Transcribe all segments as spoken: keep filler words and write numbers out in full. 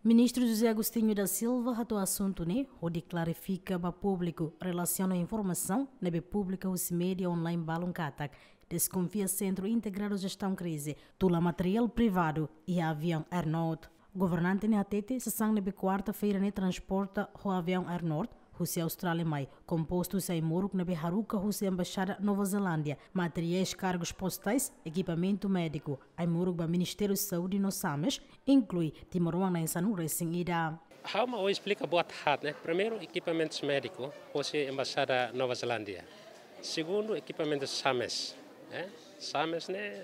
Ministru José Agostinho da Silva hato'o asuntu ne'e hodi klarifika ba públiku relasiona informasaun ne'ebé publika husi média online balun katak deskonfia Sentru Integradu Jestaun Krize tula materiál privadu iha aviaun Air North. Governante ne'e hatete sasán ne'ebé kuarta-feira ne'e transporta ho aviaun Air North husi Austrália mai kompostu husi ai-moruk ne'ebé haruka husi Embaixada Nova Zelándia, materiais, kargus postais, ekipamentu médiku, ai-moruk ba Ministériu Saúde no SAMES, inklui timoroan na'in-sanulu-resin-ida. Ha'u mak esplika buat haat, ne'e. Primeiru, ekipamentus médiku husi Embaixada Nova Zelándia. Segundu, ekipamentus SAMES, eh? SAMES ne'e,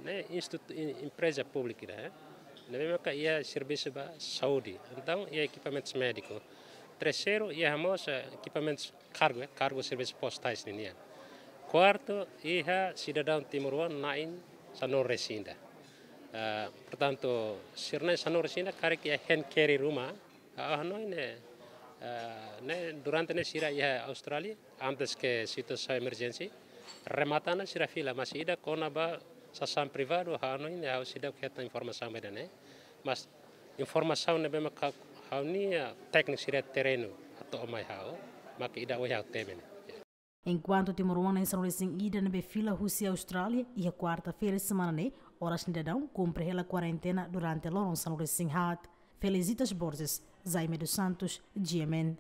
ne'e institu-, em-, empreza públika, eh? Ne'ebé maka iha servisu ba saúde. Entaun, iha ekipamentus médiku. Terseiru, iha mós, eh, ekipamentus kargu, eh, kargu servisu postais ninian. Kuartu, iha sidadaun timoroan na'in-sanulu-resin-ida. Ah, portantu, sira na'in-sanulu-resin-ida karik iha hand carry ruma, ah, ha'u hanoin ne'e, ah, ne'e durante ne'e sira iha Austrália, antes ke situasaun emerjénsia, remata ona sira fila, mas ida kona-ba sasán privadu, ha'u hanoin ne'e ha'u seidauk hetan informasaun ba ida-ne'e. Mas informasaun ne'ebé maka ha'u-nia tékniku sira terrenu hato'o mai ha'u, maka ida ohin ha'u temi ne'e. Enkuantu timoroan na'in-sanulu-resin-ida ne'ebé fila husi Austrália, iha kuarta-feira semana ne'e, oras ne'e daudaun kumpre hela kuarentena durante loron sanulu-resin-haat. Felicitas Borges, Jaime dos Santos, G M N.